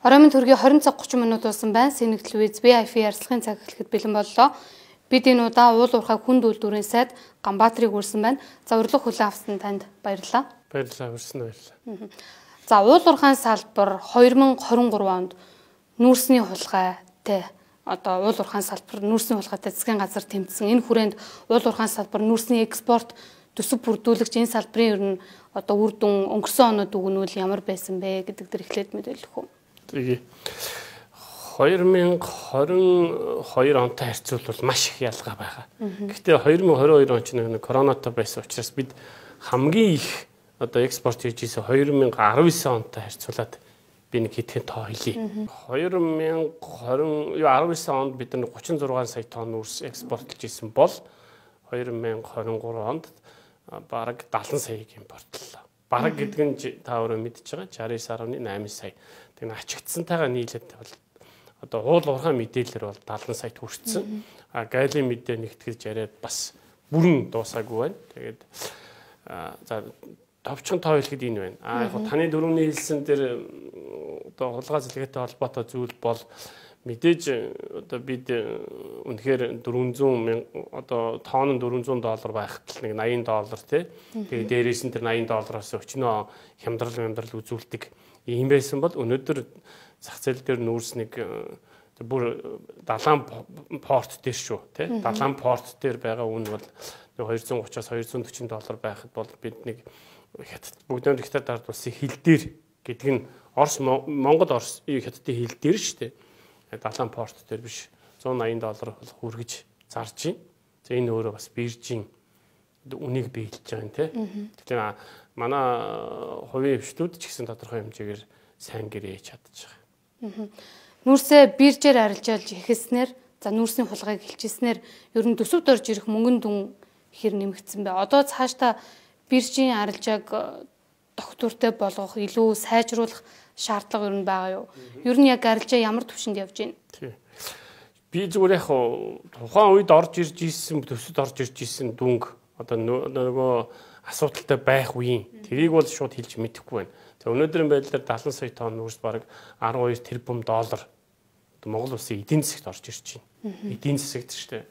Оройн төргийн 20 цаг 30 минут болсон байна. Сэнэг телевиз VIP ярилцлагын цаг эхлэхэд бэлэн боллоо. Бид энэ удаа уул уурхай хүнд үйлдвэрийн сайд Ганбаатарыг үрсэн байна. За урилга хүлээн авсан танд баярлалаа. Баярлалаа, хүрсэн баярлалаа. За уул уурхайн салбар 2023 онд нүүрсний хулгайтай одоо уул уурхайн салбар нүүрсний хулгайтай засгийн газар тэмцсэн. Энэ хүрээнд уул уурхайн салбар нүүрсний экспорт төсөв бүрдүүлэгч энэ салбарын ер нь одоо үр дүн өнгөрсөн оноод өгнүүл ямар байсан бэ гэдэг дээр эхлээд мэдээлэх үү? Тэгээ 2022 онтой харьцуулбал маш их ялгаа байгаа. Гэхдээ 2022 он ч нэг коронавитой байсан учраас бид хамгийн их одоо экспорт хийж ийсэн 2019 онтой харьцуулаад би нэг хэдхэн тоо хэлье. 2019 онд бид нар 36 сая тонн үрс экспортлж ийсэн бол 2023 онд бараг 70 саяг импортлоо. Бараг гэдэг нь та өөрөө мэдж байгаа 69.8 сая. Тэгээ ачигдсантайгаа нийлээд бол одоо уул уурхай мэдээлэлэр бол 70 сая хүрсэн. А гайлын мэдээ нэгтгэж яриад бас бүрэн дуусаагүй байна. Тэгээд за товчхон тоо хэлэхэд энэ байна. Яг таны дөрөвний хэлсэн дээр одоо хулгай зэлгээтэй холбоотой зүйл бол мэдээж одоо бид үнэхээр 400 одоо тоон нь $400 байхад нэг $80 тий. Тэгээд дээрээс нь тэр $80-аас өчнөө хямдрал үзүүлдэг ийм байсан бол өнөөдөр зах зээл дээр нүүрс нэг бүр далайн порт дээр шүү тий. Далайн порт дээр байгаа үн бол $230-аас $240 байхад бол бид нэг бүгдөө хятад ард улсын хил дээр гэдэг нь Монгол хятадын хил дээр шүү дээ. Далайн порт дээр биш $180 хүргэж зарж байна. За энэ өөрөө бас биржийн үнийг биелж байгаа юм тий. Тэгэхээр манай хувийн хвшлүүд ч гэсэн тодорхой хэмжээгээр сайн гэрээ чадчих байгаа. Нүүрсээ биржээр арилжаалж ихэлснээр за нүүрсийн хулгайг хэлчихснээр ер нь төсөвд орж ирэх мөнгөн дүн хэр нэмэгдсэн бэ? Одоо цаашдаа биржийн арилжааг тогтвортой болгох, илүү сайжруулах шаардлага ер нь байгаа юу? Ер нь яг арилжаа ямар түвшинд явж байна? Би зүгээр яг тухайн үед орж ирж ийсэн төсөд орж ирж ийсэн дүнг одоо нөгөө асуудалтай байх үеийн тэрийг бол шууд хэлж мэдэхгүй байна. За өнөөдрийн байдлаар 70 сая тонн нүүрс бараг $12 тэрбум Монгол улсын эдийн засагт орж ирж байна. Эдийн засагт шүү дээ.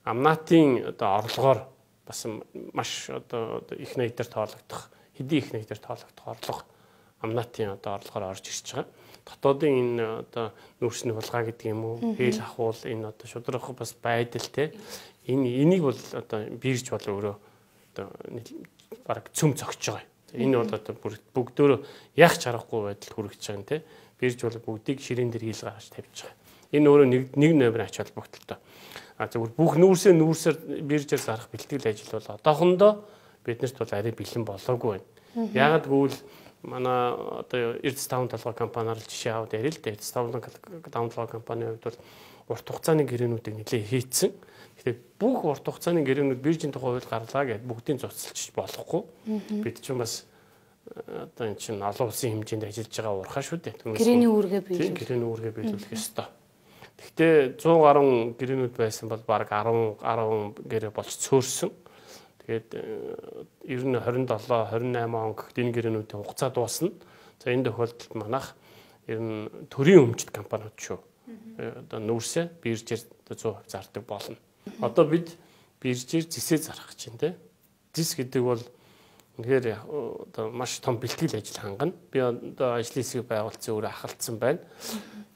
Амнатын одоо орлогоор бас маш одоо их найдаар тоологдох, хэдийн их найдаар тоологдох орлого амнатын одоо орлогоор орж ирж байгаа. Дотоодын энэ одоо нүүрсний хулгай гэдэг юм уу, хээл ахуул энэ одоо шудрах бас байдал те. Энийг бол одоо бирж бол өөрөө одоо бараг цөм зогсож байгаа. Энэ бол одоо бүгдөө яг чарахгүй байдалд хүрэж байгаа юм те. Бирж бол бүгдийг ширээн дээр хийл гаргаж тавьж байгаа. Энэ өөрөө нэг номер ач холбогдолтой. Зөвхөн бүх нүүрсээр биржээр зарах бэлтгэл ажил бол одоохондоо биднэрт бол арай бэлэн болоогүй байна. Яагад гэвэл манай одоо Эрдэс таван толгой компаниар жишээ аваад ярил л да. Эрдэс таван толгой компанийн хувьд бол урт хугацааны гэрээнүүдийг нэлээд хийцэн. Тэгэхээр бүх урт хугацааны гэрээнүүд биржийн тухай хууль гарлаа гэдээ бүгдийг цуцлж болохгүй. Бид ч бас одоо энэ чинь олон улсын хэмжээнд ажиллаж байгаа уурхай шүү дээ. Гэрээний үүргээ биелүүлэх. Гэрээний үүргээ биелүүлэх ёстой. Гэхдээ 100 гаруй гэрээнүүд байсан бол баг 10 гэрээ болж цөөрсөн. Тэгээд ер нь 27 28 он гэхэд энэ гэрээнүүдийн хугацаа дуусна. За энэ тохиолдолд манайх ер нь төрийн өмчт компаниуд шүү. Одоо нүүрсээ биржээр 100% зардаг болно. Одоо бид биржээр зэсээ зарах гэж байна те. Зэс гэдэг бол үнэхээр одоо маш том бэлтгэл ажил хангана. Би одоо ажлын хэсгийг байгуулсан өөрөө ахалцсан байна.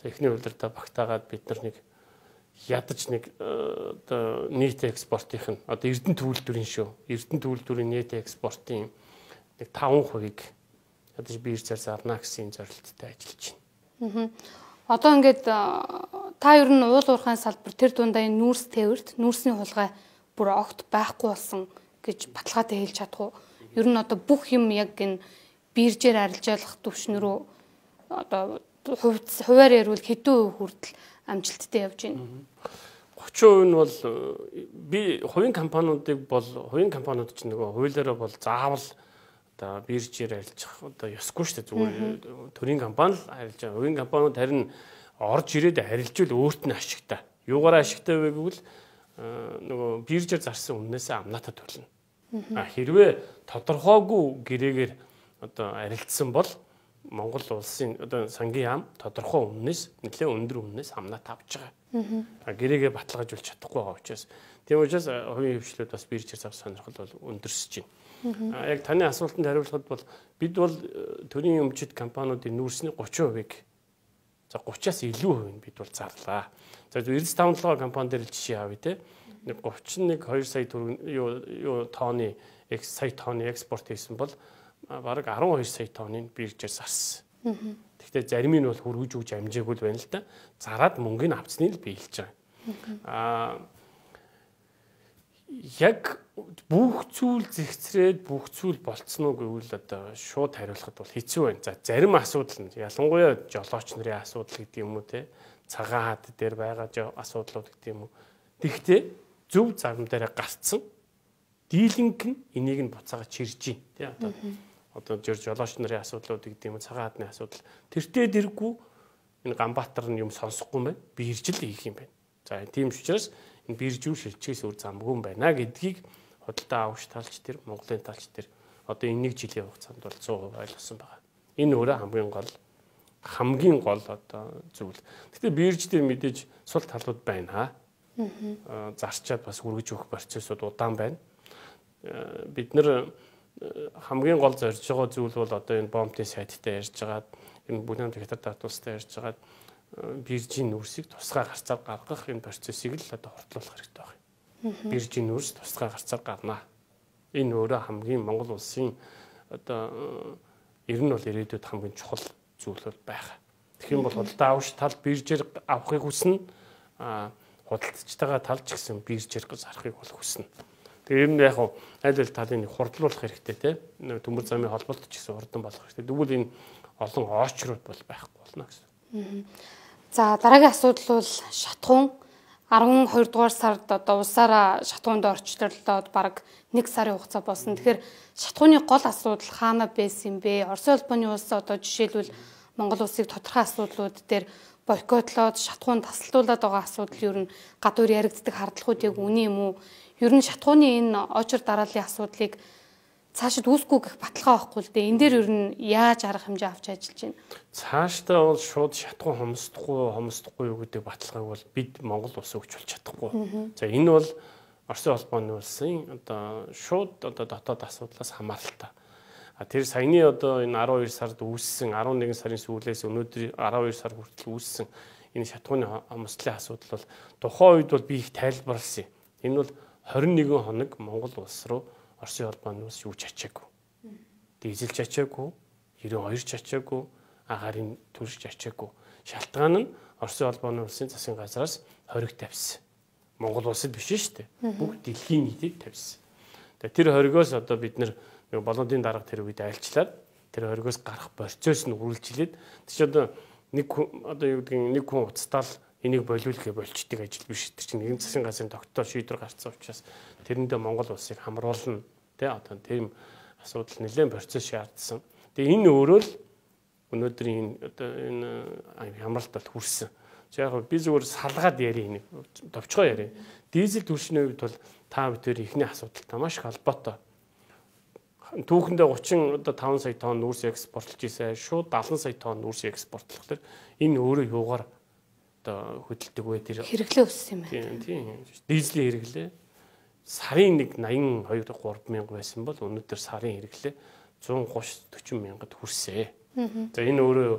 Эхний үйлдвэртээ багтаагаад бид нар нэг ядаж нэг одоо нийт экспортын одоо Эрдэнэ төвлөрийн шүү. Эрдэнэ төвлөрийн нийт экспортын нэг 5%-ийг ядаж биржээр зарна гэсэн зорилттой ажиллаж байна. Одоо ингээд та ер нь уул уурхайн салбар тэр дундаа энэ нүүрс тээвэрт нүүрсний хулгай бүр огт байхгүй болсон гэж баталгаатай хэлж чадах уу? Ер нь одоо бүх юм яг энэ биржээр арилжаалах түвшнэрүү одоо хуваар ярил хэдэн % хүртэл амжилттай явж байна. 30% нь бол би хувийн компаниудыг бол хувийн компаниуд ч нөгөө хуулиараа бол заавал одоо биржээр арилжах одоо ёсгүй шүү дээ. Зүгээр төрийн компани л арилж байгаа. Хувийн компаниуд харин орж ирээд арилжвал өөрт нь ашигтай. Юугаараа ашигтай вэ гэвэл нөгөө биржээр зарсан үннээсээ амнаатаа төлнө. Хэрвээ тодорхойгүй гэрээгээр одоо арилцсан бол Монгол улсын одоо сангийн яам тодорхой үнээс нэлээд өндөр үнээс амнаа тавьж байгаа. Гэрээгээ баталгаажуулж чадахгүй байгаа учраас тийм учраас хувийн хвшлүүд бас биржээр зав сонирхол бол өндөрсөж байна. Яг таны асуултанд хариулахад бол бид бол төрийн өмчит компаниудын нүүрсний 30%-ийг за 30-аас илүү хувийг бид бол зарлаа. За 95 компани дээр жишээ авъя те. 31-2 сая тонны экспорт хийсэн бол бараг 12 сая тонныг биржээр зарсан. Гэхдээ зарим нь бол хөргөж өгж амжаагүй байна л да. Зараад мөнгөний авцныг л биелж байгаа. Яг бүх зүйл зэгцрээд бүх зүйл болцсон уу гэвэл одоо шууд хариулахад бол хэцүү байна. За зарим асуудал нь ялангуяа жолооч нарын асуудал гэдэг юм уу те. Цагаан хад дээр байгаа асуудлууд гэдэг юм уу. Тэгэхдээ зөв зам дээр гарцсан дийлэнх нь энийг нь буцаага чирж байна. Тэ одоо жолооч нарын асуудлууд гэдэг юм уу цагаан хадны асуудал тэртээ дэргүй энэ Ганбаатар нь юм сонсохгүй юм байна. Биржил хийх юм байна. За тийм учраас энэ биржүүр шилжчихээс өөр замгүй юм байна гэдгийг худалдаа авагч талч тэр Монголын талч тэр одоо энэ нэг жилийн хугацаанд бол 100% ойлгосон байгаа. Энэ өөрөө хамгийн гол одоо зүйл. Гэхдээ бирж дээр мэдээж сул талууд байна. Зарчаад бас үргэж өгөх процессууд удаан байна. Бид нэр хамгийн гол зорж байгаа зүйл бол одоо энэ бомтын сайттай ярьж байгаад энэ бүлээн диктатор татуулстай ярьж байгаад биржийн нүүрсийг тусгай гарцаар гаргах энэ процессыг л одоо хортлуулах хэрэгтэй байна. Биржийн нүүрс тусгай гарцаар гарна. Энэ өөрөө хамгийн Монгол улсын одоо ер нь бол ирээдүйд хамгийн чухал зүйл бол байгаа. Тэгэх юм бол худалдаа авагч тал биржээр авахыг хүснэ. Худалдагчтайгаа талж гисэн биржээр зарахыг бол хүснэ. Тэгээ ер нь яг аль аль талын хурдлуулах хэрэгтэй те. Төмөр замын холболт ч гэсэн хурдан болох хэрэгтэй. Тэгвэл энэ олон очрууд бол байхгүй болно гэсэн. За дараагийн асуудал бол шатхуун 12 дугаар сард одоо улсаараа шатхуунд орчлолоод бараг 1 сарын хугацаа болсон. Тэгэхээр шатхууны гол асуудал хаана байсан юм бэ? Оросын улбаны улс одоо жишээлбэл Монгол улсыг тодорхой асуудлууд дээр бойкотлоод шатхуун тасалдуулаад байгаа асуудал ер нь гадуур яригддаг хардлагууд яг үнэн юм уу? Ер нь шатхууны энэ очир дарааллын асуудлыг цаашид үүсгүй гэх баталгаа байхгүй л дээ. Энэ дээр ер нь яаж арга хэмжээ авч ажиллаж байна? Цаашдаа бол шууд шатхуун хомсдохгүй юу гэдэг баталгааг бол бид Монгол улс өгч болж чадахгүй. За энэ бол Оросын улбаны улсын одоо шууд одоо дотоод асуудлаас хамааралтай. Тэр саяны одоо энэ 12 сард үүссэн 11 сарын сүүлээс өнөөдөр 12 сар хүртэл үүссэн энэ шатхууны хомсдлын асуудал бол тухайн үед бол би их тайлбарласан. Энэ бол 21 хоног Монгол улс руу Оросын улбаны улс юу ч ачаагүй. Дизель ч ачаагүй, 92 ч ачаагүй, агаарын төрш ч ачаагүй. Шалтгаан нь Оросын улбаны улсын засгийн газраас хориг тавьсан. Монгол улсад биш шүү дээ. Бүх дэлхийн нийтэд тавьсан. Тэр хоригоос одоо бид нэг болоодын дарга тэр үед айлчлаад тэр хоригоос гарах процесс нь үргэлжлээд тийч одоо нэг одоо юу гэдгийг нэг хүн уцтаал энийг болиулахыг болчдөг ажил биш. Тэр чинь нэгэн засгийн газрын тогтоол шийдвэр гарцсан учраас тэрэндээ Монгол улсыг хамруулна тий одоо тийм асуудал нэлээд процесс шаардсан. Тэгээ энэ өөрөө л өнөөдрийн одоо энэ хамралтад хүрсэн. Яг би зүгээр салгаад ярив нэг товчгоо ярив. Дизель түлшний үед бол та бүхэн ихний асуудалтай маш их холбоотой. Түүхэндээ 35 сая тонн нүүрс экспортлж ийсэн шууд 70 сая тонн нүүрс экспортлох төр энэ өөрөө юугаар одоо хөдөлдөг вэ тэр хэрэглээ өссөн юм байна. Тийм. Дизелийн хэрэглээ сарын нэг 82 3 мянга байсан бол өнөөдөр сарын хэрэглээ 130 40 мянгад хүрсэн. За энэ өөрөө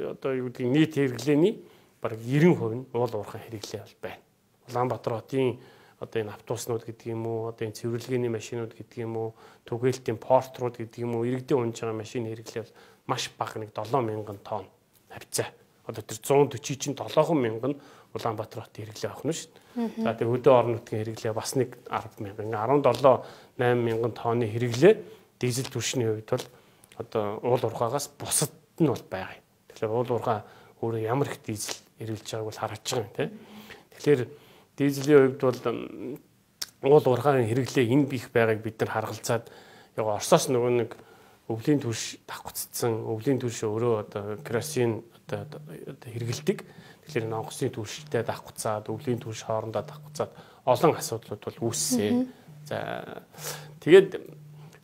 одоо юу гэдэг нийт хэрэглээний бараг 90% нь уул уурхай хэрэглээ бол байна. Улаанбаатар хотын одоо энэ автобуснууд гэдэг юм уу, одоо энэ цэвэрлэгээний машинууд гэдэг юм уу, түгээлтийн портрууд гэдэг юм уу, иргэдийн унж байгаа машины хэрэглээ бол маш бага нэг 7,000 тонн хавцаа. Одоо тэр 140 чинь 7,000 нь Улаанбаатар хотын хэрэглээ авах нь шүү дээ. За тэр хөдөө орон нутгийн хэрэглээ бас нэг 10,000, 17-8,000 тонны хэрэглээ дизель түвшний хувьд бол одоо уул уурхаагаас бусад нь бол байгаа юм. Тэгэхээр уул уурхай өөрөө ямар их дизель эргэлж байгааг бол харагдж байгаа юм тийм. Тэгэхээр дизелийн хувьд бол уул уурхайн хэрэглээ энэ бих байгааг бид нар харгалзаад яг Оросоос нөгөө нэг өвлийн түвш давхцсан, өвлийн түвш өөрөө одоо керосин одоо хэрэгэлдэг. Тэгэхээр онгоцны түвштэй давхцаад, өвлийн түвш хоорондоо давхцаад олон асуудлууд бол үүссэн. За тэгээд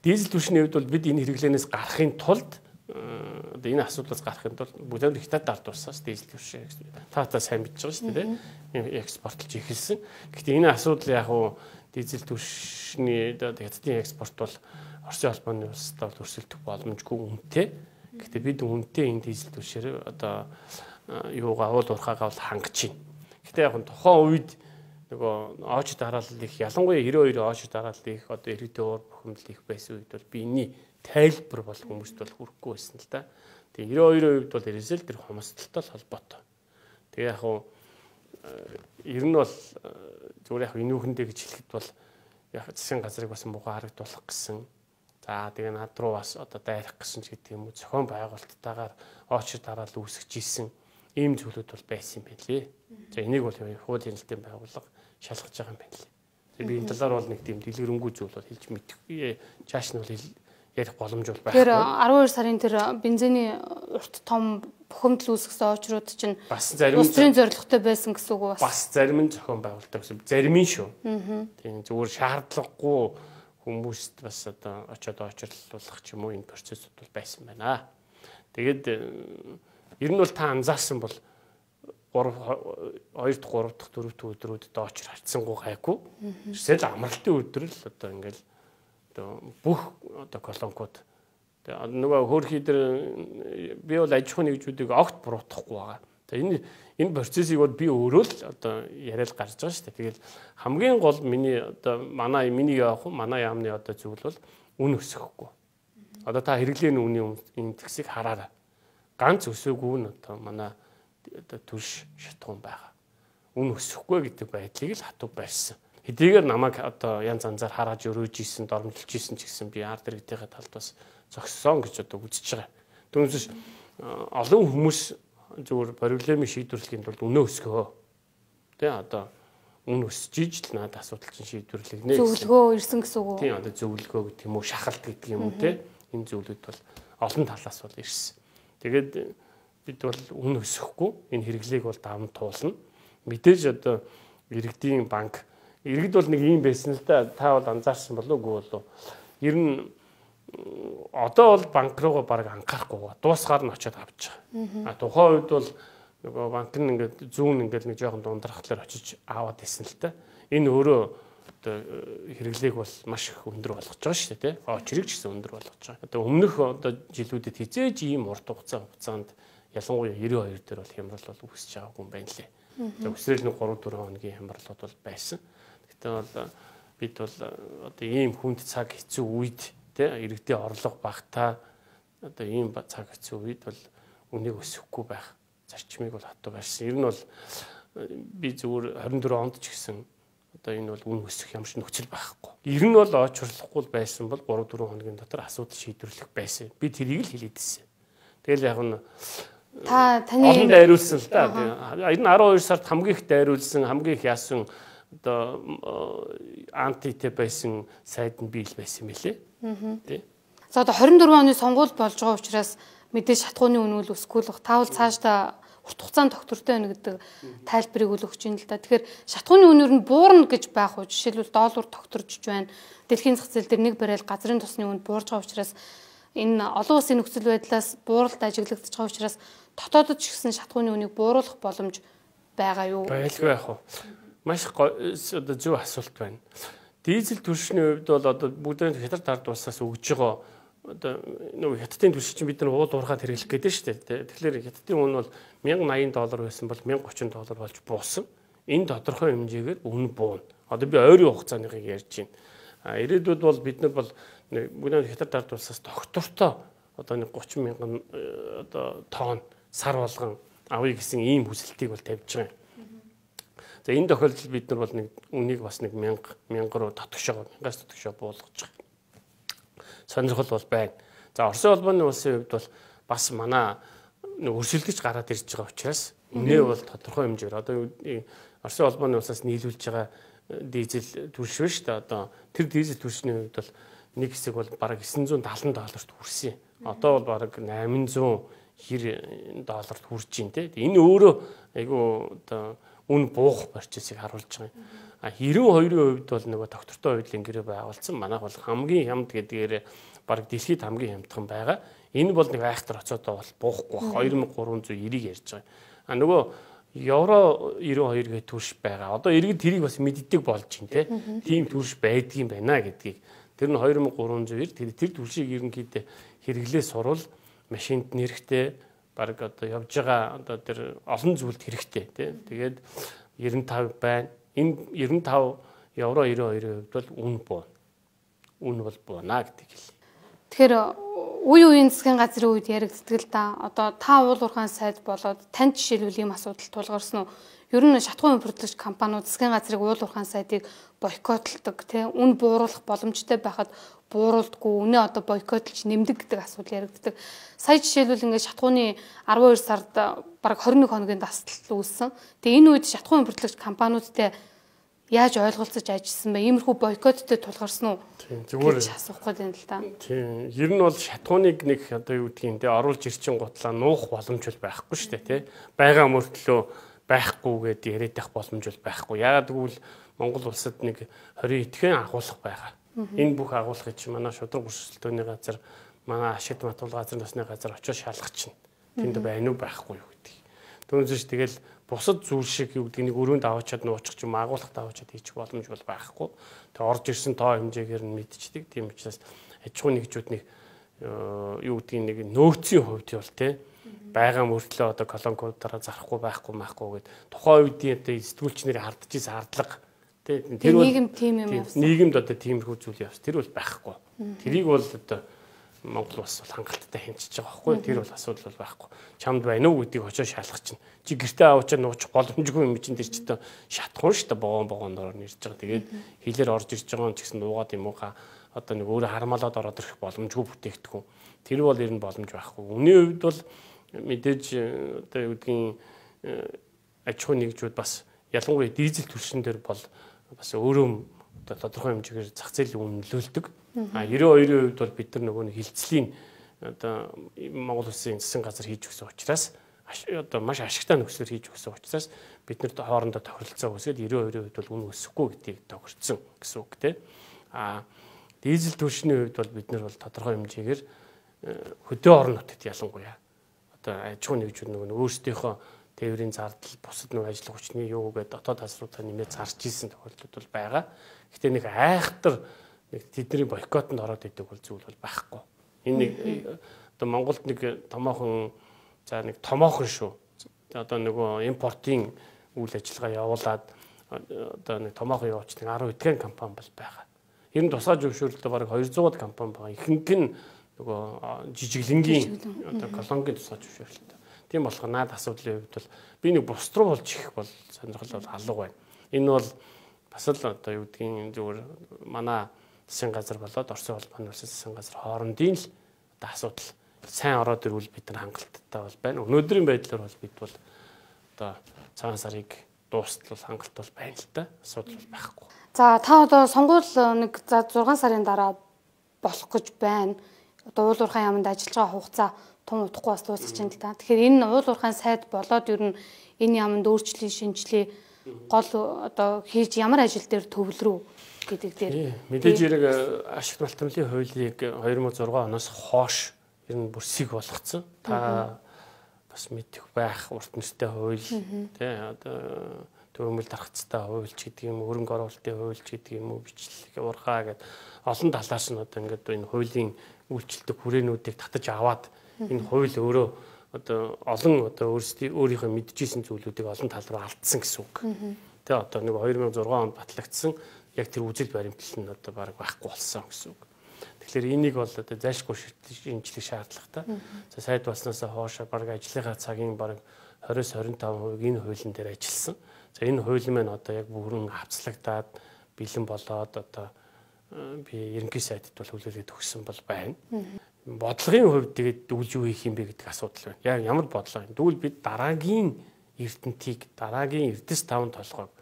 дизель түвшний хувьд бол бид энэ хэрэглээнээс гарахын тулд одоо энэ асуудлаас гарахын тулд бүгд хятад ард улсаас дизель түвшин та сайн мэдж байгаа шүү дээ. Экспортлж эхэлсэн. Гэхдээ энэ асуудал яг уу дизель түвшний хятадын экспорт бол Оросын холбооны улстай бол өрсөлдөх боломжгүй үнэтэй. Гэхдээ бид үнэтэй энэ дизель түвшээр одоо юугаа уул уурхаагаа бол хангаж байна. Гэхдээ яг тухайн үед нөгөө оожид дараалал их ялангуяа 92 оожид дараалал их одоо иргэдийн уур бухимдал их байсан үед бол биений тайлбар бол хүмүүст бол хүрэхгүй байсан л да. Тэгээ 92-ийн үед бол ерөөсөө л тэр хомсдолтой холбоотой. Тэгээ яг хуу ер нь бол зүгээр яг инүүхэндээ гэж хэлэхэд бол яг засгийн газрыг бас муухай харагдуулах гэсэн. За тэгээ над руу бас одоо дайрах гэсэн ч гэдэг юм уу зохион байгуулалттайгаар оочид дараалал үүсгэж исэн ийм зүйлүүд бол байсан юм байна лээ. За энийг бол хуулийн хэлтийн байгууллага шалгаж байгаа юм байна лээ. Тэгээ би энэ талаар бол нэг тийм дэлгэрэнгүй зүйл бол хэлж мэдэхгүй. Чааш нь бол ярих боломж бол байхгүй. Тэр 12 сарын тэр бензиний урт том бухимдал үүсгэсэн очрууд чинь бас зарим улсын зорилготой байсан гэсэн үг бас зарим нь зохион байгуулалтаа гэсэн зарим нь шүү. Тийм зүгээр шаардлагагүй хүмүүст бас одоо очиод очирлуулах ч юм уу энэ процессуд бол байсан байна. Тэгээд ер нь бол та анзаарсан бол 2 дахь 3 дахь 4 дахь өдрүүд одоо очир харцсангүй гайгүй. Эсвэл амралтын өдөр л одоо ингээл одоо бүх одоо колонкууд тэгээ нөгөө хөөрхий дээр би бол аж ахуйн нэгжүүдийг огт буруутгахгүй байгаа. Тэгээ энэ процессыг бол би өөрөө л одоо яриад гарч байгаа шүү дээ. Тэгэл хамгийн гол миний одоо миний яамны одоо зүйл бол үн өсөхгүй. Одоо та хэрэглээний үнийн индексийг хараарай. Ганц өсөөгүй нь одоо манай одоо түлш шатгуун байгаа. Үн өсөхгүй гэдэг байдлыг л хатуу барьсан. Хэдийгээр намайг одоо янз янзаар хараад өрөөж ийсэн, дормжилж ийсэн ч гэсэн би ард иргэдийн талд бас зогссон гэж одоо үзэж байгаа. Түүнээс олон хүмүүс зөвхөн проблемыг шийдвэрлэхийн тулд үнэ өсгөө. Тэ одоо үн өсөж ижил надад асуудал чинь шийдвэрлэгнэ. Зөвлөгөө ирсэн гэсэн үг үү? Тийм одоо зөвлөгөө гэдэг юм уу, шахалт гэдэг юм уу те. Энэ зүйлүүд бол олон талаас бол ирсэн. Тэгээд бид бол үн өсөхгүй энэ хэрэглээг бол даван туулна. Мэдээж одоо иргэдийн банк иргэд бол нэг юм байсан л да. Та бол анзаарсан болов уу болов. Ер нь одоо бол банк руугаа баг анхаарахгүй дуусгаар нь очиод авч байгаа. Тухайн үед бол нөгөө банк нь ингээд зүүн ингээд нэг жоохон дундрахлаар очиж аваад исэн л та. Энэ өөрөө одоо хэрэглээг бол маш их өндөр болгож байгаа шүү дээ, тий. Очрыг ч гэсэн өндөр болгож байгаа. Одоо өмнөх одоо жилүүдэд хизээж ийм урт хугацаанд ялангуяа 92 дээр бол хямрал бол үүсэж байгаагүй юм байна лээ. За өсрөл нэг 3-4 хоногийн хямралууд бол байсан. Гэхдээ бол бид бол одоо ийм хүнд цаг хэцүү үед тий иргэдийн орлого багтаа одоо ийм цаг хэцүү үед бол үнийг өсөхгүй байх зарчмыг бол хатуу барьсан. Ер нь бол би зүгээр 24 онд ч гэсэн одоо энэ бол үн өсөх ямар ч нөхцөл байхгүй. Ер нь бол очрлохгүй байсан бол 3-4 хоногийн дотор асуудал шийдвэрлэх байсан. Би тэрийг л хэлээд ирсэн. Тэгэл яг нь таны дайруулсан л да. Энэ 12 сард хамгийн их дайруулсан, хамгийн их яасан одоо антитэй байсан сайд нь би л байсан мэлээ. Тий. За одоо 24 оны сонгуул болж байгаа учраас мэдээж шатгууны үн үл өсөхгүй л таавал цаашдаа урт хугацаанд доктортой байна гэдэг тайлбарыг өгч ийн л да. Тэгэхээр шатгууны үн нь буурна гэж байх уу? Жишээлбэл доллар докторж байна. Дэлхийн зах зээл дээр нэг барайл газрын тосны үнд буурж байгаа учраас энэ олон улсын нөхцөл байдлаас бууралт ажиглагдаж байгаа учраас дотоодд ч гэсэн шатгууны үнийг бууруулах боломж байгаа юу? Байлгүй яах вэ? Маш одоо зөв асуулт байна. Дизель түвшний хувьд бол одоо бүгд хятад ард улсаас өгж байгаа одоо нөгөө хятадын түвшин чинь бид нар уул уурхаад хэрэглэх гэдэг шүү дээ. Тэгэхээр хятадын үн бол $1080 байсан бол $1030 болж буусан. Энэ тодорхой хэмжээгээр үн буuna. Одоо би ойрын хугацааныхыг ярьж байна. Ирээдүйд бол бид нар бол бүгд хятад ард улсаас доктортой одоо нэг 30,000 одоо тонн сар болгон авъя гэсэн ийм хүсэлтийг бол тавьж байгаа юм. За энэ тохиолдолд бид нар бол нэг үнийг бас нэг 1000 руу татгшоо 1000-аас татгшоо буулгаж байгаа. Сонирхол бол байна. За Оросын холбооны улсын хувьд бол бас манай өрсөлдөж гараад ирж байгаа учраас үнэ бол тодорхой хэмжээр одоо Оросын холбооны улсаас нийлүүлж байгаа дизель түвш биш та одоо тэр дизель түвшний хувьд бол нэг хэсэг бол бараг $970-т хүрсэн. Одоо бол бараг $890 хүрж байна те. Энэ өөрөө айгу одоо үн буух процессыг харуулж байгаа юм. 92-ийн хувьд бол нөгөө доктортой хуулийн гэрээ байгуулсан. Манайх бол хамгийн хямд гэдгээр бараг дэлхийд хамгийн хямдхан байгаа. Энэ бол нэг айхтар оцоодоо бол буухгүй байх 2390 ярьж байгаа. А нөгөө евро 92 гэх төрш байгаа. Одоо иргэд тэрийг бас мэддэг болж байна тийм төрш байдгийн байна гэдгийг. Тэр нь 2390 тэр төршийг ерөнхийдөө хэрэглээ сурвал машинд нэрхтээ баг одоо явж байгаа одоо тэр олон зүйлд хэрэгтэй тийм. Тэгээд 95 байна. Энэ 95 евро 92-ийн хувьд бол үн бол буунаа гэдэг хэлээ. Тэгэхээр үеийн засгийн газрын үед яригддаг л да. Одоо та уул уурхайн сайд болоод танд жишээлбэл ийм асуудал тулгарсан уу? Ер нь шатхуун импортлогч компаниуд засгийн газрыг уул уурхайн сайдыг бойкотлдог тийм үн бууруулах боломжтой байхад бууруулдаггүй үнэ одоо бойкотлж нэмдэг гэдэг асуудал яригддаг. Сая жишээлбэл ингээд шатхууны 12 сард бараг 21 хоногийн дасгал үүссэн. Тэгээ энэ үед шатхуун импортлогч компаниудтай яаж ойлголцож ажилласан бэ? Иймэрхүү бойкоттой тулгарсан уу? Зүгээр асуухгүй байна л да. Тийм. Ер нь бол шатхууныг нэг одоо юу гэдгийг те оруулж ирчин гутлаа нуух боломж бол байхгүй шүү дээ тий. Бага мөртлөө байхгүй гэдээ яриад байх боломж бол байхгүй. Яагаад гэвэл Монгол улсад нэг 20 итгэн агуулга байгаа. Энэ бүх агуулгыг чи манай шудраг өрсөлдөөний газар, манай ашигт матуул газар насны газар очиж шалгах чинь. Тэнд байна уу байхгүй юу гэдэг. Түүнээс тэгэл бусад зүйл шиг юу гэдэг нэг өрөөнд аваачаад нуучих юм агуулгад аваачаад хийчих боломж бол байхгүй. Тэгээ орж ирсэн тоо хэмжээгээр нь мэдчихдэг. Тийм учраас аж ахуйн нэгжүүд нэг юу гэдгийг нэг нөөцийн хувьд бол тий байгаа мөртлөө одоо колонкуудаараа зарахгүй байхгүй гэд тухайн үеийн одоо сэтгүүлч нарын хардж исэн хардлага тий тэр бол нийгэм тийм юм явсан. Нийгэмд одоо тиймэрхүү зүйл явсан. Тэр бол байхгүй. Тэрийг бол одоо Монгол улс бол хангалттай хэмжиж байгаа байхгүй. Тэр бол асуудал бол байхгүй. Чамд байна уу гэдгийг очиж шалгах чинь. Чи гэртээ аваачаа нуучих боломжгүй юм чинь тэр чинь шатхуун шүү дээ богооноор нэрж байгаа. Тэгээд хилээр орж ирж байгаа юм ч гэсэн дуугаад юм ууха одоо нэг өөрөө хармалаад ороод ирэх боломжгүй бүтээгдэхүүн. Тэр бол ер нь боломж байхгүй. Үнийн хувьд бол мэдээж одоо юу гэдгийг аж ахуйн нэгжүүд бас ялангуяа дизель түлшин дээр бол бас өөрөө одоо тодорхой хэмжээгээр зах зээлийн үн нөлөөлдөг. А 92% бол бид нар нөгөө хилцлийн одоо Монгол Улсын засгийн газар хийж өгсөн учраас одоо маш ашигтай нөхцөлөөр хийж өгсөн учраас бид нарт хоорондоо тохиролцоо үүсгээд 92% бол үн өсөхгүй гэдгийг тохирцсон гэсэн үг тийм. А дизель түлшний хувьд бол бид нар бол тодорхой хэмжээгээр хөдөө орон нутагт ялангуяа одоо аж ахуйн нэгжүүд нөгөө өөрсдийнхөө тээврийн зардал бусад нэг ажил хүчний юу гэдэг дотоод тасруудаа нэмээд зарж исэн тохиолдлууд бол байгаа. Гэхдээ нэг айхтар тэдний бойкотод ороод идэг бол зүйл бол байхгүй. Энэ нэг одоо Монголд нэг томоохон шүү. Одоо нөгөө импортын үйл ажиллагаа явуулаад одоо нэг томоохон явуулчдаг 10 эдгээр компани бол байгаа. Ер нь тусгай зөвшөөрлөлтөд бараг 200-аад компани байгаа. Ихэнх нь нөгөө жижиглэнгийн одоо колонгийн тусгай зөвшөөрлөлт. Тийм болохоор наад асуудлын хувьд бол би нэг бус руу болж ирэх бол сонирхол бол алга байна. Энэ бол бас л одоо юу гэдгийг зүгээр манай засгийн газар болоод Орсын улбаны улсын засгийн газар хоорондын л одоо асуудал сайн ороод ирвэл бид нар хангалттай бол байна. Өнөөдрийн байдлаар бол бид бол одоо цагаан сарыг дуустал хангалт бол байна л да. Асуудал бол байхгүй. За та одоо сонгуул нэг 6 сарын дараа болох гэж байна. Одоо уул уурхайн яамд ажиллаж байгаа хугацаа тун удахгүй бас дуусах чинь л да. Тэгэхээр энэ уул уурхайн сайд болоод ер нь энэ яамд өөрчлөлт шинжилгээ гол одоо хийж ямар ажил дээр төвлөрөө гэдэг дээр мэдээж хэрэг ашигт малтмлын хуулийг 2006 оноос хойш ер нь бүрсийг болгоцсон. Та бас мэдэх байх урт нэртэй хууль тий одоо төвөмөл даргацтай хууль ч гэдэг юм хөрөнгө оруулалтын хууль ч гэдэг юм уу бичлэг урхаа гэдэг олон талаас нь одоо ингээд энэ хуулийн үйлчлдэг хүрээнүүдийг татаж аваад энэ хууль өөрөө одоо олон одоо өөрийнхөө мэдчихсэн зүйлүүдийг олон тал руу алдсан гэсэн үг. Тэ одоо нэг 2006 онд батлагдсан яг тэр үзэл баримтлал нь одоо баг байхгүй болсон гэсэн үг. Тэгэхээр энийг бол одоо зайлшгүй шинжлэх шаардлагатай. За сайд болсноос хойш баг ажлынхаа цагийн баг 20-25% энэ хуулийн дээр ажилласан. За энэ хууль маань одоо яг бүрэн хавцлагдаад бэлэн болоод одоо би ерөнхий сайдд бол хүлээлгээд өгсөн бол байна. Бодлогын хувьд тэгээд дүүлж юу хийх юм бэ гэдэг асуудал байна. Яг ямар бодлого юм? Дүүл бид дараагийн эрдэнтийг, дараагийн эрдэс таван толгойг,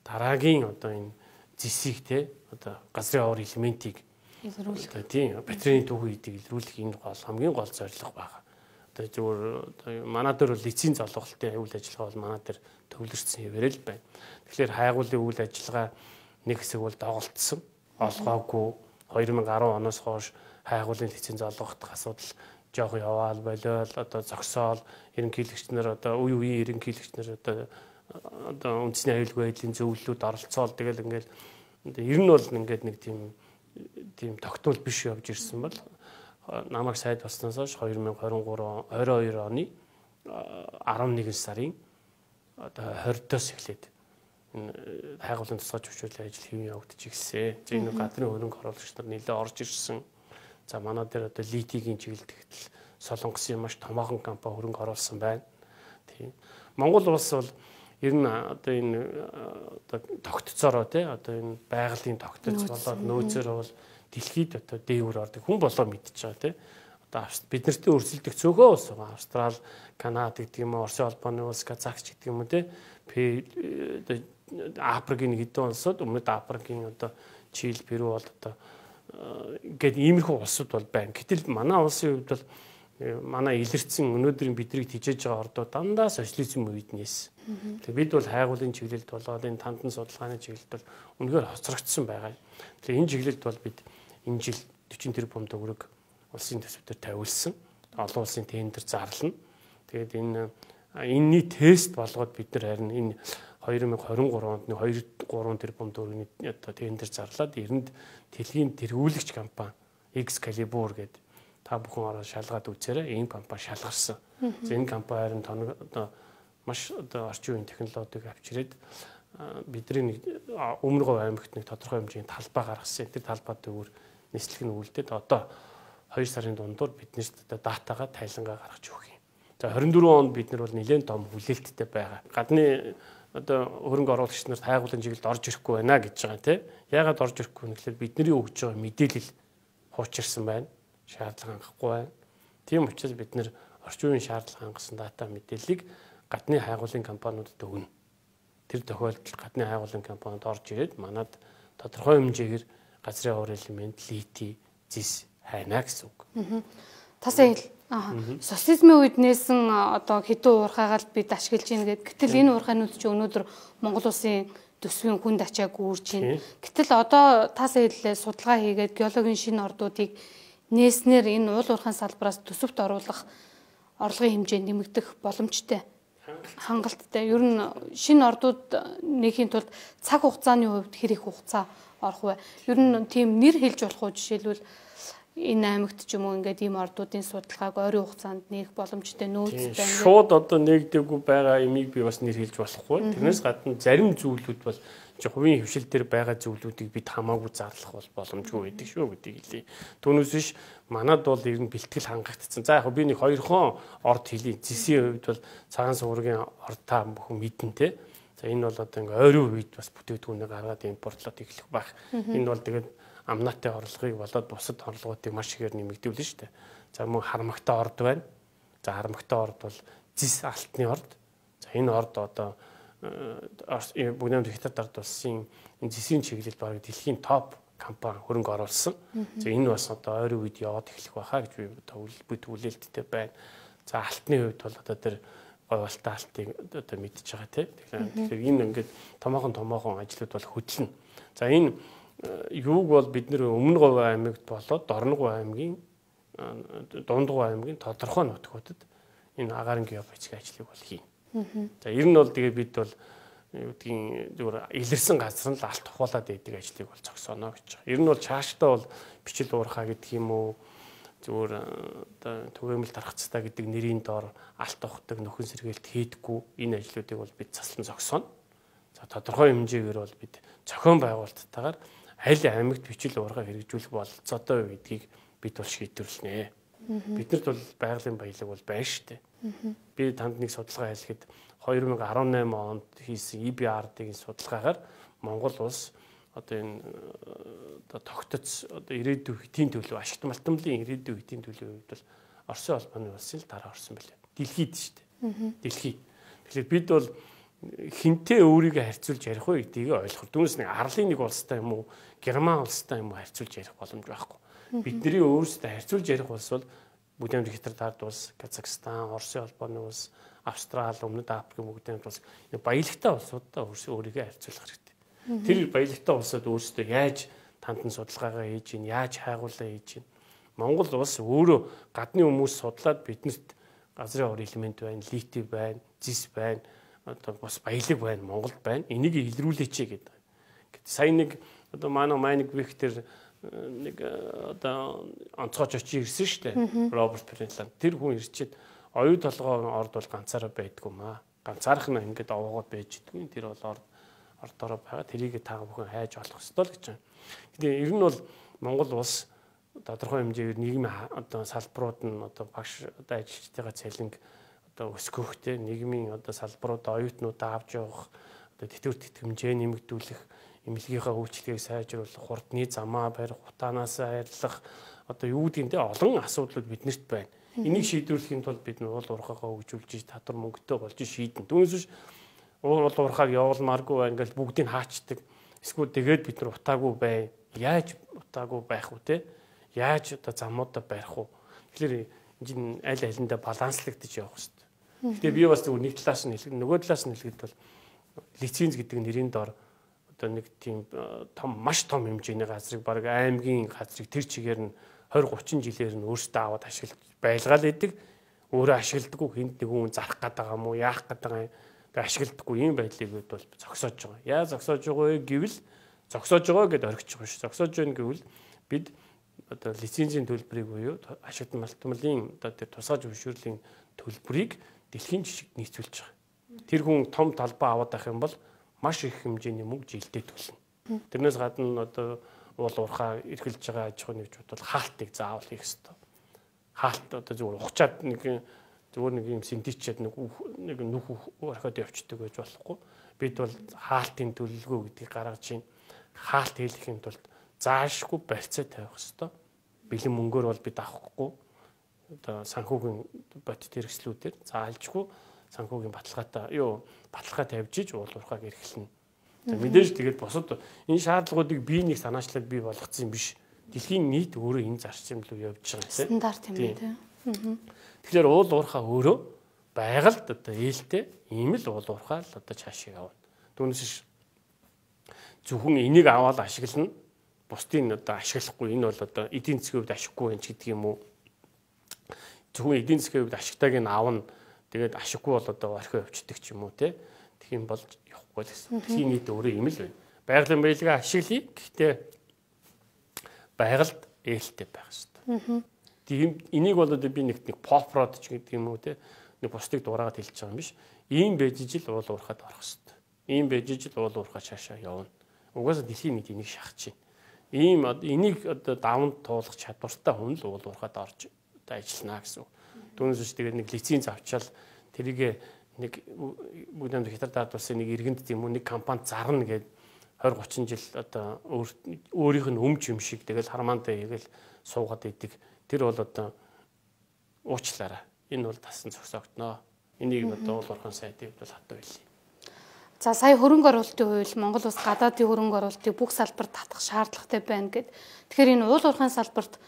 дараагийн одоо энэ зэсийг те одоо газрын ор элементийг илрүүлэх. Тийм, батарейны түүхийг илрүүлэх энэ гол хамгийн гол зорилго байгаа. Одоо зөвөр одоо манай дээр бол лиценз олголтын үйл ажиллагаа бол манай дээр төвлөрсөн хэвээрээ л байна. Тэгэхээр хайгуулын үйл ажиллагаа нэг хэсэг бол доголдсон. Олгоогүй 2010 оноос хойш хайгуулын лиценз олгох асуудал жоох яваал болол одоо зогсоол ерөнхийлөгч нар одоо үеийн ерөнхийлөгч нар одоо үндэсний аюулгүй байдлын зөвлөлүүд оролцоол тэгэл ингээл ер нь бол ингээд нэг тийм тогтмол биш явж ирсэн бол намайг сайд болсноос хойш 2022 оны 11 сарын одоо 20-оос эхлээд хайгуулын тусгай зөвшөөрлөлийн ажил хэвэн явагдаж ирсэн. Энэ гадны хөрөнгө оруулагч нар нэлээд орж ирсэн. За манай дээр одоо литигийн чиглэлд Солонгосын маш томоохон компани хөрөнгө оруулсан байна. Тийм. Монгол улс бол ер нь одоо энэ одоо тогтцоороо тий одоо энэ байгалийн тогтц болоод нөөцөөр бол дэлхийд одоо дээвэр ордог хүн болоо мэдчихэж байгаа тий. Одоо бид нартэй өрсөлдөх цөөхөө улс байгаа. Австрал, Канада гэдэг юм уу, Оросын холбооны улс, Казахч гэдэг юм уу тий. Одоо Африкийн нэг хэдэн улсууд өмнөд Африкийн одоо Чили, Перу бол одоо ингээд иймэрхүү улсууд бол байна. Гэтэл манай улсын хувьд бол манай илэрсэн өнөөдрийн бидрийг тижээж байгаа ордоо дандаа социализм үед нээсэн. Тэгээ бид бол хайгуулын чиглэлд болоод энэ тандан судалгааны чиглэлд бол үнэхээр хоцрогдсон байгаа. Тэгээ энэ чиглэлд бол бид энэ жил 40 тэрбум төгрөг улсын төсвөөр тавиулсан. Олон улсын тендер зарлана. Тэгээд энэний тест болгоод бид нар харин энэ 2023 онд 2-3 тэрбум төгрөгийн одоо тендер зарлаад эрэнд дэлхийн тэргүүлэгч компани Excalibur гэдэг та бүхэн ороод шалгаад үзээрэй. Энэ компани шалгарсан. Энэ компани харин одоо маш одоо орчин үеийн технологиг авчирээд бидний нэг Өмнө Говь аймагт нэг тодорхой хэмжээний талбай гаргасан. Тэр талбай дээр нислэг нь үлдээд одоо 2 сарын дундуур биднээс одоо датагаа тайлангаа гаргаж өгөх юм. За 24 онд бид нар бол нэлээд том хүлээлттэй байгаа. Гадны одоо хөрөнгө оруулагч нарт хайгуулын чиглэлд орж ирэхгүй байна гэж байгаа тийм. Яагаад орж ирэхгүй вэ гэхээр бидний өгж байгаа мэдээлэл хуучирсан байна. Шаардлага хангахгүй байна. Тийм учраас бид нэр орчин үеийн шаардлага хангасан дата мэдээллийг гадны хайгуулын компаниудад өгнө. Тэр тохиолдолд гадны хайгуулын компаниуд орж ирээд манад тодорхой хэмжээгээр газрын уур элемент, лити, зис хайна гэсэн үг. Тасаа хэл социализмын үед нээсэн одоо хэдэн уурхайгаал бид ашиглаж ийн гэдэг. Гэтэл энэ уурхайнууд чи өнөөдөр Монгол улсын төсвийн хүнд ачааг үүрж байна. Гэтэл одоо тасаа хэллээ судалгаа хийгээд геологийн шинэ ордуудыг нээснээр энэ уул уурхайн салбараас төсөвт оруулах орлогын хэмжээ нэмэгдэх боломжтой. Хангалттай. Ер нь шинэ ордууд нээхийн тулд цаг хугацааны хувьд хэр их хугацаа орох вэ? Ер нь тийм нэр хэлж болох уу жишээлбэл энэ аймагт ч юм уу ингээд ийм ордуудын судалгааг ойрын хугацаанд нээх боломжтой нөөц байна. Шууд одоо нэгдэггүй байгаа имийг би бас нэр хэлж болохгүй. Тэрнээс гадна зарим зүйлүүд бол хувийн хвшил дээр байгаа зүйлүүдийг бид хамаагүй зарлах бол боломжгүй байдаг шүү гэдгийг хэлье. Түүнээс биш манад бол ер нь бэлтгэл хангагдсан. За яг би нэг 2 хон орд хэлье. Зэсийн хувьд бол цагаан суургийн орд та бүхэн мэднэ те. За энэ бол одоо ингээ ойрын үед бас бүтээгдэхүүнээ гаргаад импортлоод эхлэх байх. Энэ бол тэгээд амнаатай орлогыг болоод бусад орлогуудыг маш ихээр нэмэгдүүлнэ шүү дээ. За мөн хармагтай орд байна. За хармагтай орд бол зис алтны орд. За энэ орд одоо бүгд хятад ард улсын энэ зэсийн чиглэлд баг дэлхийн топ компани хөрөнгө оруулсан. За энэ бас одоо ойрын үед яваад эхлэх байхаа гэж би хүлээлттэй байна. За алтны хувьд бол одоо тэр говьалтай алтыг одоо мэдчихэж байгаа тийм. Тэгэхээр энэ ингээд томоохон ажлууд бол хөдлөнө. За энэ юуг бол бид нэр Өмнө Говь аймагт болоод Дорноговь аймгийн Дундгов аймгийн тодорхой нутгуудад энэ агаарын геофизикийн ажлыг бол хийнэ. За ер нь бол тэгээ бид бол юу гэдгийг зүгээр илэрсэн газар нь л алт тухуулаад байдаг ажлыг бол зогсооно гэж байгаа. Ер нь бол цаашдаа бол бичил уурхаа гэдэг юм уу зүгээр одоо түгээмэл дарахцтай гэдэг нэрийн доор алт тухдаг нөхөн сэргээлт хийдэггүй энэ ажлуудыг бол бид заслан зогсооно. За тодорхой хэмжээгээр бол бид зохион байгуулалттайгаар аль аймагт бичил уурхаа хэрэгжүүлэх бололцоотой гэдгийг бид бол шийдвэрлэнэ. Биднэрт бол байгалийн баялаг бол байна шүү дээ. Би танд нэг судалгаа хэлэхэд 2018 онд хийсэн EBRD-ийн судалгаагаар Монгол улс одоо энэ одоо тогтоц одоо ирээдүйн хэтийн төлөв ашигт малтамлын ирээдүйн хэтийн төлөвийн хувьд бол Оросын холбооны улсын л дараа орсон байлаа. Дэлхийд шүү дээ. Дэлхий. Тэгэхээр бид бол хинтээ өөрийгөө харьцуулж ярих уу гэдгийг ойлгох. Түүнээс нэг арлын нэг улстай юм уу, Герман улстай юм уу харьцуулж ярих боломж байхгүй. Бидний өөрсдөө харьцуулж ярих улс бол бүгд хятад ард улс, Казахстан, Оросын холбооны улс, Австрал, Өмнөд Африк бүгд улс баялагтай улсуудаа өөрийгөө харьцуулах хэрэгтэй. Тэр баялагтай улсууд өөрсдөө яаж тандан судалгаагаа хийж гин, яаж хайгуулаа хийж гин. Монгол улс өөрөө гадны хүмүүс судлаад биднэрт газрын ор элемент байна, литий байна, зис байна, одоо бас баялаг байна, Монголд байна. Энийг илрүүлээч гэдэг. Сая нэг одоо манай Виктор нэг одоо онцгойч очиж ирсэн шүү дээ. Роберт Френланд. Тэр хүн ирчээд оюу толгойн орд бол ганцаараа байдгүй маа. Ганцаарх нь ингээд овоогоод байж идэггүй. Тэр бол ордороо байгаа. Тэрийг та бүхэн хайж олох ёстой л гэж байна. Гэтэл ер нь бол Монгол улс тодорхой хэмжээгээр нийгмийн одоо салбарууд нь одоо багш одоо ажилчдынхаа цалинг одоо өсгөхтэй нийгмийн одоо салбарууд оюутнуудаа авч явах одоо тэтгэвэр тэтгэмжээ нэмэгдүүлэх эмнэлгийнхаа үйлчлэгийг сайжруулах хурдны замаа барих хутаанаас арилгах одоо юу гэдгийг те олон асуудлууд биднэрт байна. Энийг шийдвэрлэхийн тулд бид нь уул уурхаагаа хөгжүүлж татвар мөнгөтэй болж шийдэн. Түүнээс уул уурхааг явуулмааргүй ингээл бүгдийг хаачдаг. Эсвэл тэгээд бид нар утаагүй бай. Яаж утаагүй байх вэ те? Яаж одоо замуудаа барих вэ? Тэгэхээр энэ аль алиндаа баланслагдаж явах хэрэгтэй. Гэтэ би бас нэг талаас нь хэлэх, нөгөө талаас нь хэлэхэд бол лиценз гэдэг нэрийн дор одоо нэг тийм маш том хэмжээний газрыг баг аймгийн газрыг тэр чигээр нь 20-30 жилээр нь өөрсдөө аваад ашиглаж байлгаал идэг. Өөрөө ашигладаггүй хүнд нэг хүн зарах гэдэг юм уу, яах гэдэг юм. Тэгээ ашигладаггүй ийм байдлыг бол зогсоож байгаа. Яа зогсоож байгаа вэ гэвэл зогсоож байгаа гэдээ орхиж байгаа шүү. Зогсоож байна гэвэл бид одоо лицензийн төлбөрийг буюу ашигт малтмалын одоо тэр тусгай зөвшөөрлийн төлбөрийг дэлхийн жишгт нийцүүлж байгаа. Тэр хүн том талбай аваад байх юм бол маш их хэмжээний мөнгө жилдээ төлнө. Тэрнээс гадна одоо уул уурхаа эрхэлж байгаа аж ахуйн нэгжүүд бол хаалтыг заавал хийх ёстой. Хаалт одоо зүгээр ухчаад зүгээр нэг юм синтечээд нэг нүх орхиод явчихдаг гэж болохгүй. Бид бол хаалтын төлөлгөө гэдгийг гаргаж чинь хаалт хийхин тулд заашгүй барьцаа тавих ёстой. Бэлэн мөнгөөр бол бид авахгүй. Одоо санхүүгийн бодит хэрэгслүүдээр заалжгүй санхүүгийн баталгаа тавьж иж уул уурхааг эрхэлнэ. Мэдээж тэгээд бусад энэ шаардлагуудыг бие нэг санаачлал бий болгоцсон юм биш. Дэлхийн нийт өөрөө энэ зарчим руу явж байгаа юм. Стандарт юм тийм. Тэгэхээр уул уурхаа өөрөө байгальд одоо ээлтэй ийм л уул уурхаа л одоо цаашаа явна. Түүнээс зөвхөн энийг аваад ашиглана. Бусдын одоо ашиглахгүй энэ бол одоо эдийн засгийн хувьд ашиггүй юм ч гэдэг юм уу. Зөвхөн эдийн засгийн хувьд ашигтайг нь аавна. Тэгээд ашиггүй бол одоо орхио явчихдаг ч юм уу те. Тэгэх юм бол явахгүй л гэсэн. Дэлхийн нийт өөрөө ийм л байна. Байгалийн баялагаа ашиглая. Гэхдээ байгальд ээлтэй байх хэрэгтэй. Тийм энийг бол одоо би нэг pop prod ч гэдэг юм уу те. Нэг бусдыг дураагаад хэлж байгаа юм биш. Ийм байж ижил уул уурхад орох хэрэгтэй. Ийм байж ижил уул уурхаа цаашаа явна. Угаасаа дэлхийн нийт энийг шахаж байна. Ийм энийг одоо давнд туулах чадвартай хүн л уул уурхад орж одоо ажиллана гэсэн. Түүнээс тэгээд нэг лиценз авчаал тэрийг нэг бүгд хятад улсын нэг иргэнд тийм үү нэг компанид зарна гэдэг 20-30 жил одоо өөрийнх нь өмч юм шиг тэгэл хармаандаа хийгээл суугаад идэг. Тэр бол одоо уучлаарай. Энэ бол тасан зогсоогдноо. Энийг одоо уул уурхайн сайдын хувьд бол хатуу хэлье. За сая хөрөнгө оруулалтын хууль Монгол улс гадаадын хөрөнгө оруулалтыг бүх салбарт татах шаардлагатай байна гэд. Тэгэхээр энэ уул уурхайн салбарт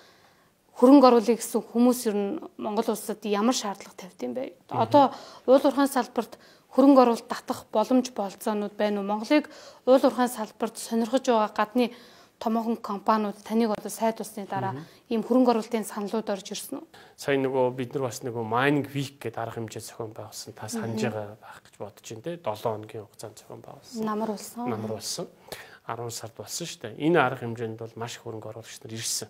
хөрөнгө оруулах гэсэн хүмүүс ер нь Монгол улсад ямар шаардлага тавьд юм бэ? Одоо уул уурхайн салбарт хөрөнгө оруулалт татах боломж болцоонууд байна уу? Монголыг уул уурхайн салбарт сонирхож байгаа гадны томоохон компаниуд таныг одоо сайд усны дараа ийм хөрөнгө оруулалтын саналууд орж ирсэн үү? Сая нөгөө бид нар бас нөгөө mining week гэдэг арга хэмжээ зохион байгуулсан. Та санаж байгаа байх гэж бодож байна те. 7 хоногийн хугацаанд зохион байгуулсан. Намар болсон. 10 сард болсон шүү дээ. Энэ арга хэмжээнд бол маш их хөрөнгө оруулагч нар ирсэн.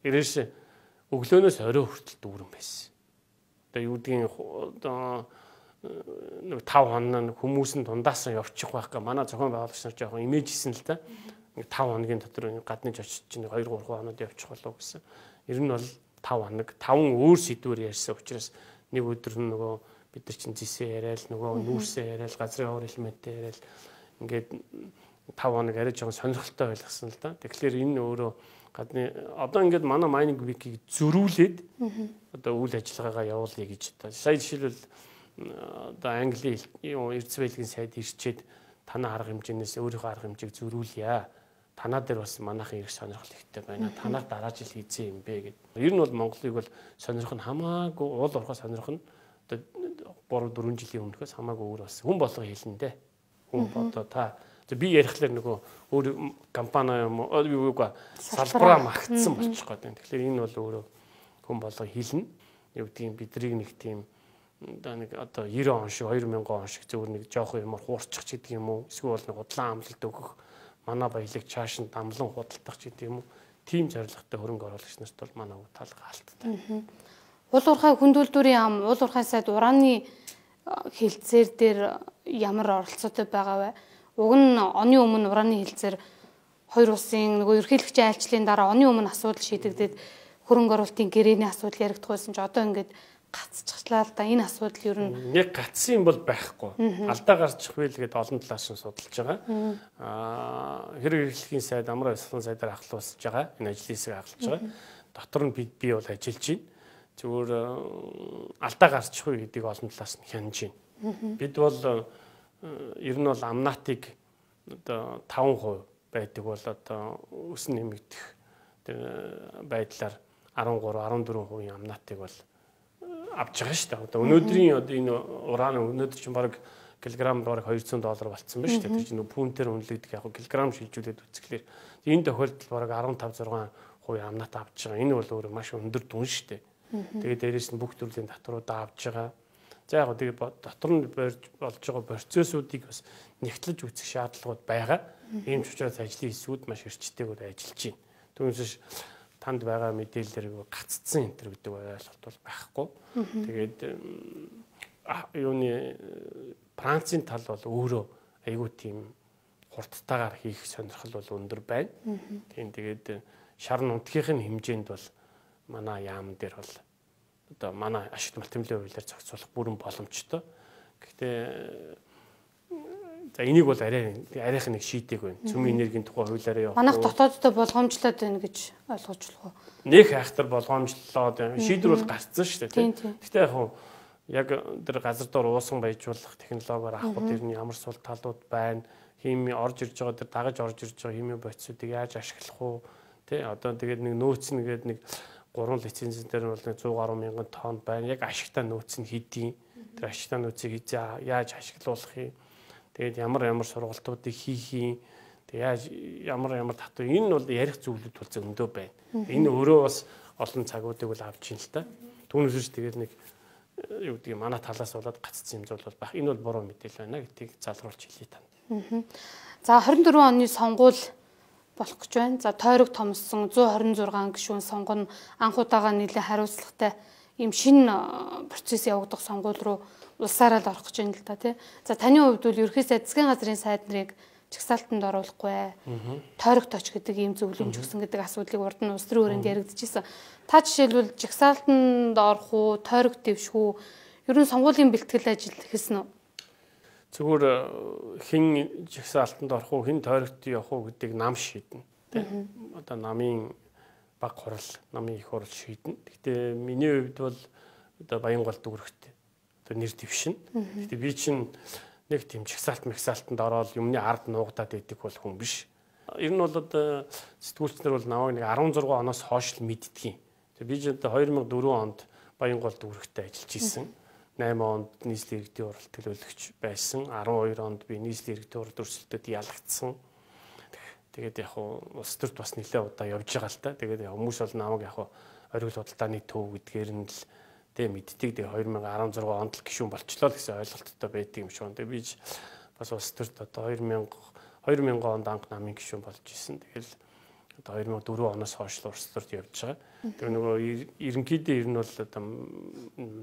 Ирээш өглөөнөөс орой хүртэл дүүрэн байсан. Одоо юу гэдгийг одоо нэг 5 хоног хүмүүс нь дундаасаа явчих байх га манай зохион байгуулагч нар жоохон имиж хийсэн л да. 5 хоногийн дотор гадны очиж чинь 2-3 хоноод явчих болов гэсэн. Ер нь бол 5 хоног 5 өөр сэдвээр ярьсан учраас нэг өдөр нь нөгөө бид нар чинь зисээ яриад нөгөө нүүрсээ яриад газрын ор элементтэй яриад ингээд 5 хоног арай жоохон сонирхолтой байлгасан л да. Тэгэхээр энэ өөрөө гадны одоо ингээд манай mining week-ийг зөрүүлээд одоо үйл ажиллагаагаа явуулъя гэж одоо сая жишээлбэл одоо Английн эрдэс байлгийн сайд ирчээд танаа арга хэмжээнээс өөрийнхөө арга хэмжээг зөрүүлье. Танаа дээр бас манайхан их сонирхол ихтэй байна. Танаар дараа жил хийцэн юм бэ гэд. Ер нь бол Монголыг бол сонирх нь хамаагүй уул уурхай сонирх нь одоо 3-4 жилийн өмнөхөөс хамаагүй өөр бас хүн болго хэлнэ дээ. Хүн одоо та би ярихлаар нөгөө өөр компани юм уу салбараа магтсан болчих гээд байна. Тэгэхээр энэ бол өөрөө хүн болго хэлнэ. Юу гэдгийг бидрийг нэг тийм одоо 90 он шиг 2000 он шиг зөвхөн нэг жоохон юмар хуурчих ч гэдэг юм уу. Эсвэл нэг удлан амлалт өгөх манай баялаг чааш нь дамлан худалдах ч гэдэг юм уу. Тим зорилготой хөрөнгө оруулагч нарт бол манай үг талга алдтай. Уул уурхай хүндүүлдүүрийн ам, уул уурхай сайд ураны хилцээр дээр ямар оролцоотой байгаа вэ? Уг нь оны өмнө ураны хилцээр хоёр улсын нөгөө ерөнхийлөгчийн айлчлалын дараа оны өмнө асуудал шийдэгдээд хөрөнгө оруулалтын гэрээний асуудал яригдах байсан ч одоо ингээд гацчихлаа л да. Энэ асуудал ер нь яг гацсан юм бол байхгүй. Алдаа гарчих вэ л гээд олон талаас нь судалж байгаа. Хэрэг эрхлэхийн сайд амар ёслон сайдаар ахлуулж байгаа. Энэ ажлын хэсэг ахлуулж байгаа. Дотор нь би бол ажиллаж байна. Зүгээр алдаа гарчих вэ гэдгийг олон талаас нь хянаж байна. Бид бол ер нь бол амнатыг одоо 5% байдаг бол одоо өсөн нэмэгдэх байдлаар 13-14% амнатыг бол авч байгаа шүү дээ. Одоо өнөөдрийн одоо энэ уран өнөөдөр чинь баг килограмм бараг $200 болцсон байна шүү дээ. Тэр чинь пүнтээр үнэлэгдэх яг килограмм шилжүүлээд үзэхлээр энэ тохиолдолд бараг 15-6% амнат авч байгаа. Энэ бол өөрөө маш өндөр дүн шүү дээ. Тэгээд дээрээс нь бүх төрлийн татваруудаа авч байгаа. За яг тэгээд дотор нь болж байгаа процессуудыг бас нэгтлэж үзэх шаардлагууд байгаа. Ийм ч учраас ажлын хэсгүүд маш эрчтэйгээр ажиллаж байна. Түүнээс танд байгаа мэдээлэлээр гаццсан энэ гэдэг ойлголт бол байхгүй. Тэгээд юуны Францын тал бол өөрөө айгүй тийм хурдтайгаар хийх сонирхол бол өндөр байна. Тийм тэгээд шар нутгийнхын хэмжээнд бол манай яам дээр бол одоо манай ашигт малтимлын хуулиар зохицуулах бүрэн боломжтой. Гэхдээ за энийг бол арайх нэг шийдэг байна. Цөмийн энергийн тухай хуулиараа явах. Манайх дотооддоо болгоомжлоод байна гэж ойлгож болох уу? Нөх айхтар болгоомжлоод шийдвэр бол гарцсан шүү дээ. Гэхдээ яг тэр газар дор уусан баяжуулах технологиор авах тэр нь ямар сул талууд байна. Хими орж ирж байгаа тэр дагаж орж ирж байгаа хими бодисуудыг яаж ашиглах уу? Тэ одоо тэгээд нэг нөөц нэгээд нэг 3 лицензэн дээр бол 100 гаруй мянган тонн байна. Яг ашигтай нөөц нь хэдий. Тэр ашигтай нөөцийг яаж ашиглуулах юм? Тэгээд ямар сургалтуудыг хийх юм? Тэгээд ямар татвар энэ бол ярих зүйлүүд бол зөндөө байна. Энэ өөрөө бас олон цагуудыг бол авч ийн л та. Түүнээс тэгээд нэг юу гэдэг манай талаас болоод гаццсан юм зүйл бол байх. Энэ бол буруу мэдээлэл байна гэдгийг залруулж хэлье танд. За 24 оны сонгуул болох гэж байна. За тойрог томссон 126 гишүүн сонгоно анх удаага нэлээд хариуцлагатай ийм шинэ процесс явагдах сонгуул руу улсаараа л орох гэж байна л да тий. За таны хувьд бол ерөнхий сайд засгийн газрын сайд нарыг чагсаалтанд оруулахгүй тойрогт оч гэдэг ийм зөвлөмж өгсөн гэдэг асуудлыг урд нь улс төрийн хүрээнд яригдчихсэн. Та жишээлбэл чагсаалтанд орох уу, тойрогт дэвших үү? Ер нь сонгуулийн бэлтгэл ажил хийсэн үү? Зүгээр хэн жагсаалтанд орох уу, хэн тойрогт явах уу гэдгийг нам шийднэ. Одоо намын баг хурал, намын их хурал шийднэ. Гэхдээ миний хувьд бол одоо Баянгол дүүрэгт одоо нэр дэвшин. Гэхдээ би чинь нэг тийм жагсаалтанд ороод юмны ард нуугдаад идэх бол хүн биш. Ер нь бол одоо сэтгүүлчнэр бол намайг нэг 16 оноос хойш л мэддэг юм. Би ч одоо 2004 онд Баянгол дүүрэгтээ ажиллаж исэн. 8 онд нийслэлийн иргэдийн уралт төлөөлөгч байсан. 12 онд би нийслэлийн иргэдийн уралт өрсөлдөд ялагдсан. Тэгээд яг улс төрт бас нэлээд удаа явж байгаа л та. Тэгээд хүмүүс бол намайг яг оргил худалдааны төв гэдгээр нь л тэг мэддэг. Тэгээд 2016 онд л гишүүн болчлоо л гэсэн ойлголттой байдаг юм шиг. Тэгээд би бас улс төрт одоо 2000 онд анх намын гишүүн болж исэн. Тэгэл одоо 2004 оноос хойш л улс төрт явж байгаа. Тэр нөгөө ерөнхийдөө ер нь бол одоо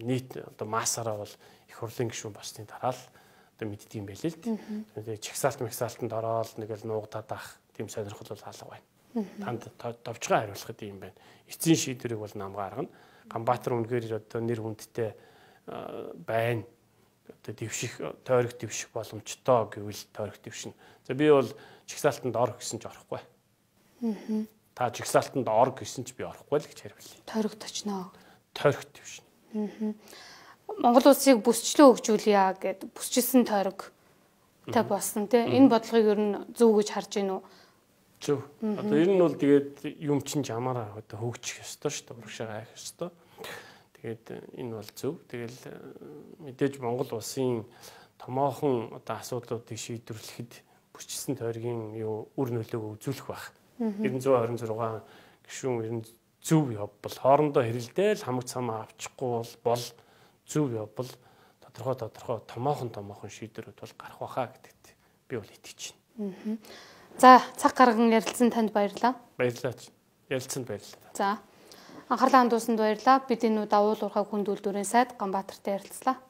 нийт одоо массаараа бол их хурлын гишүүн болсны дараа л одоо мэддэг юм байлээ л. Тэгээд чагсаалтанд ороод нэг л нуугдаад ах тийм сонирхол бол алга байна. Танд товчгоо хариулахад юм байна. Эцсийн шийдвэрийг бол нам гаргана. Ганбаатар үнэхээр одоо нэр хүндтэй байна. Одоо тойрог дэвших боломжтой гэвэл тойрог дэвшнэ. За би бол чагсаалтанд ор гэсэн ч орохгүй. Та жигсаалтанд ор гэсэн ч би орохгүй л гэж хариулъя. Тойрогт очно. Тойрогт дэвшнэ. Монгол улсыг бүсчлэн хөгжүүлье гэд бүсчилсэн тойрог та болсон тий. Энэ бодлогыг ер нь зөв гэж харж байна уу? Зөв. Одоо ер нь бол тэгээд юм чинь чамаараа одоо хөгжих ёстой шүү дээ. Урагшаа хайх ёстой. Тэгээд энэ бол зөв. Тэгэл мэдээж Монгол улсын томоохон одоо асуудлуудыг шийдвэрлэхэд бүсчилсэн тойргийн юу үр нөлөөгөө үзүүлэх байх. 926 гишүүн зөв явбал хоорондоо хэрэлдээл хамаг цамаа авчихгүй бол зөв явбал тодорхой томоохон шийдвэрүүд бол гарах байхаа гэдэгт би бол итгэж байна. За цаг гарган ярилцсан танд баярлалаа. Баярлалаа. Ярилцсанд баярлалаа. За анхаарлаа хандуулсанд баярлалаа. Бид энэ удаа уул уурхай хүнд үйлдвэрийн сайд Ганбаатартай ярилцлаа.